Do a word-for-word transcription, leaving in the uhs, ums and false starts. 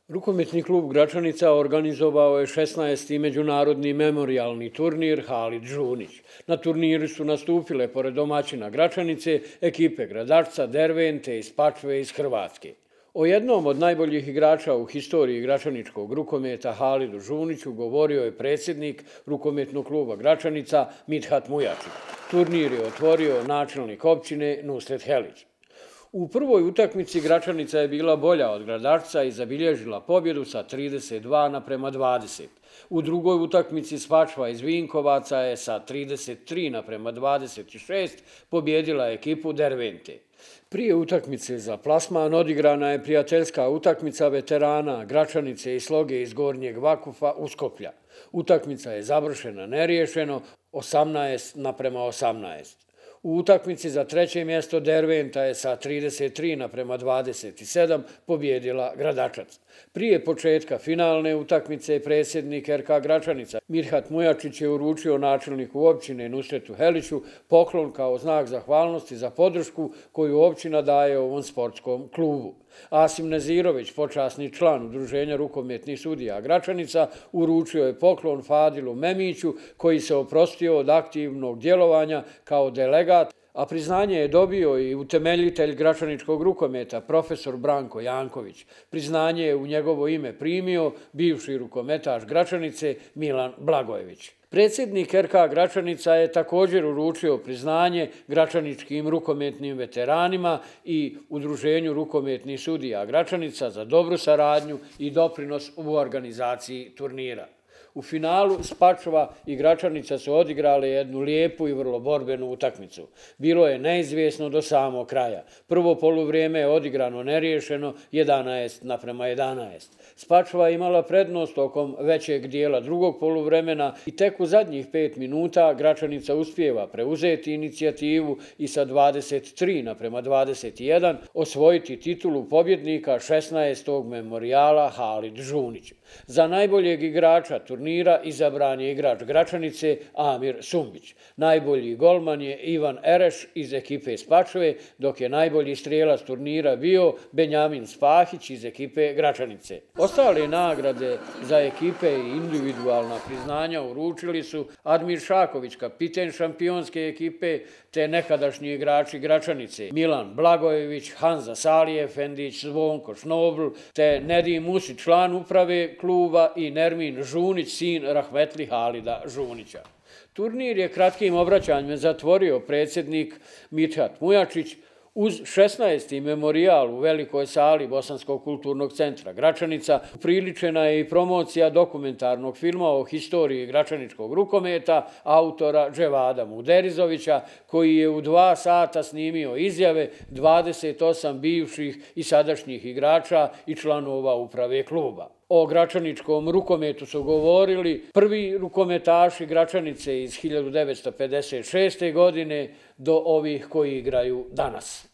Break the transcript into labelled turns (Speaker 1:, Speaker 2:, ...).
Speaker 1: Rukometni klub Gračanica organizovao je šesnaesti međunarodni memorijalni turnir Halid Žunić. Na turniru su nastupile, pored domaćina Gračanice, ekipe Gradačca, Dervente i Spačve iz Hrvatske. O jednom od najboljih igrača u historiji gračaničkog rukometa Halidu Žuniću govorio je predsjednik rukometnog kluba Gračanica Mithat Mujačić. Turnir je otvorio načelnik općine Nusret Helić. U prvoj utakmici Gračanica je bila bolja od Gradačca i zabilježila pobjedu sa trideset dva naprema dvadeset. U drugoj utakmici Spačva iz Vinkovaca je sa trideset tri naprema dvadeset šest pobjedila ekipu Dervente. Prije utakmice za plasman odigrana je prijateljska utakmica veterana Gračanice i Sloge iz Gornjeg Vakufa u Skoplja. Utakmica je završena neriješeno osamnaest naprema osamnaest. U utakmici za treće mjesto Derventa je sa trideset tri naprema dvadeset sedam pobjedila Gradačac. Prije početka finalne utakmice predsjednik er ka Gračanica Mithat Mujačić je uručio načelniku općine Nusretu Heliću poklon kao znak zahvalnosti za podršku koju općina daje ovom sportskom klubu. Asim Nezirović, počasni član Udruženja rukometnih sudija Gračanica, uručio je poklon Fadilu Memiću koji se oprostio od aktivnog djelovanja kao delegat, a priznanje je dobio i utemeljitelj gračaničkog rukometa, profesor Branko Janković. Priznanje je u njegovo ime primio bivši rukometaš Gračanice Milan Blagojević. Predsjednik er ka Gračanica je također uručio priznanje gračaničkim rukometnim veteranima i Udruženju rukometnih sudija Gračanica za dobru saradnju i doprinos u organizaciji turnira. U finalu Spačva i Gračanica su odigrale jednu lijepu i vrlo borbenu utakmicu. Bilo je neizvjesno do samog kraja. Prvo poluvrijeme je odigrano neriješeno jedanaest naprema jedanaest. Spačva je imala prednost tokom većeg dijela drugog poluvremena i tek u zadnjih pet minuta Gračanica uspijeva preuzeti inicijativu i sa dvadeset tri naprema dvadeset jedan osvojiti titulu pobjednika šesnaestog memorijala Halid Žunić. Za najboljeg igrača turnira izabran je igrač Gračanice Amir Sumbić. Najbolji golman je Ivan Ereš iz ekipe Spačve, dok je najbolji strijelac turnira bio Benjamin Spahić iz ekipe Gračanice. Ostale nagrade za ekipe i individualna priznanja uručili su Admir Šaković, kapiten šampionske ekipe, te nekadašnji igrači Gračanice Milan Blagojević, Hanza Salijefendić, Zvonko Šnobl, te Nedim Musić, član uprave kluba, i Nermin Žunić, sin rahmetli Halida Žunića. Turnir je kratkim obraćanjem zatvorio predsjednik Mithat Mujačić. Uz šesnaesti memorijal u velikoj sali Bosanskog kulturnog centra Gračanica upriličena je i promocija dokumentarnog filma o historiji gračaničkog rukometa autora Dževada Muderizovića, koji je u dva sata snimio izjave dvadeset osam bivših i sadašnjih igrača i članova uprave kluba. O gračaničkom rukometu su govorili prvi rukometaši Gračanice iz hiljadu devetsto pedeset šeste. godine do ovih koji igraju danas.